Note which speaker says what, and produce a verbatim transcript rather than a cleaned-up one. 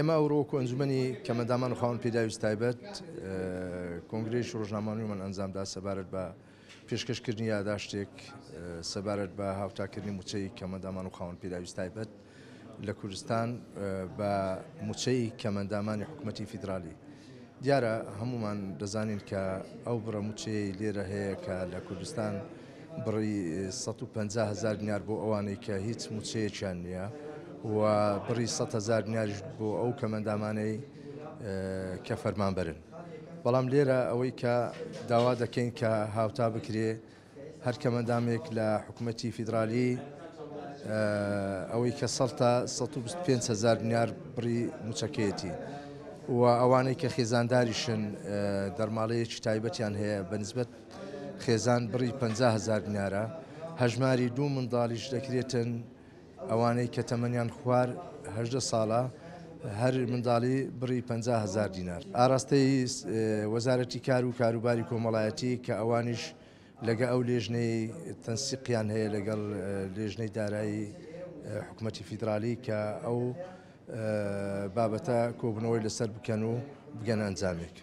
Speaker 1: ئێمە ئەوڕۆ وەکو ئەنجومەنی کەمەندامان و خاوەن پێداویست تایبەت کۆنگرەیەکی ڕۆژنامەوانیمان ئەنجامدا سەبارەت بە پێشکەشکردنی یاداشتێک سەبارەت بە هاوتاکردنی موچەی کەمەندامان و خاوەن پێداویست تایبەت لە کوردستان بە موچەی کەمەندامانی حکوومەتی فیدرالی. دیارە هەمومان دەزانین کە ئەو بڕە موچەی لێرە هەیە کە لە کوردستان بڕی سەد و پەنجا هەزار دینار بۆ ئەوانەی کە هیچ موچەیەکیان نییە و بڕی سەد هەزار دیناریش بۆ ئەو کەمەندامانەی کە فەرمانبەرن. بەڵام لێرە ئەوەی کە داوا دەکەین کە هاوتا بکرێ هەر کەمەندامێک لە حکوومەتی فیدرالی ئەوەی کە سەڵتە سەد و بیست و پێنج هەزار دینار بڕی موچەکەیەتی و ئەوانەی کە خێزانداریشن دەرماڵەیەکی تایبەتیان هەیە بەنسبەت خێزان بڕی پەنجا هەزار دینارە. هەژماری دوو منداڵیش دەکرێتن ئەوانەی کە تەمەنیان خوار هەژدە ساڵە هەر منداڵی بڕی پەنجا هەزار دینار. ئاراستەی وەزارەتی کار و کاروباری کۆمەڵایەتی کە ئەوانیش لەگە ئەو لێژنەی تەنسیقیان هەیە لەگەڵ لێژنەی دارایی حکوومەتی فیدرالی کە ئەو بابەتە کۆبنەوەی لەسەر بکەن و بگەن ئەنجامێک.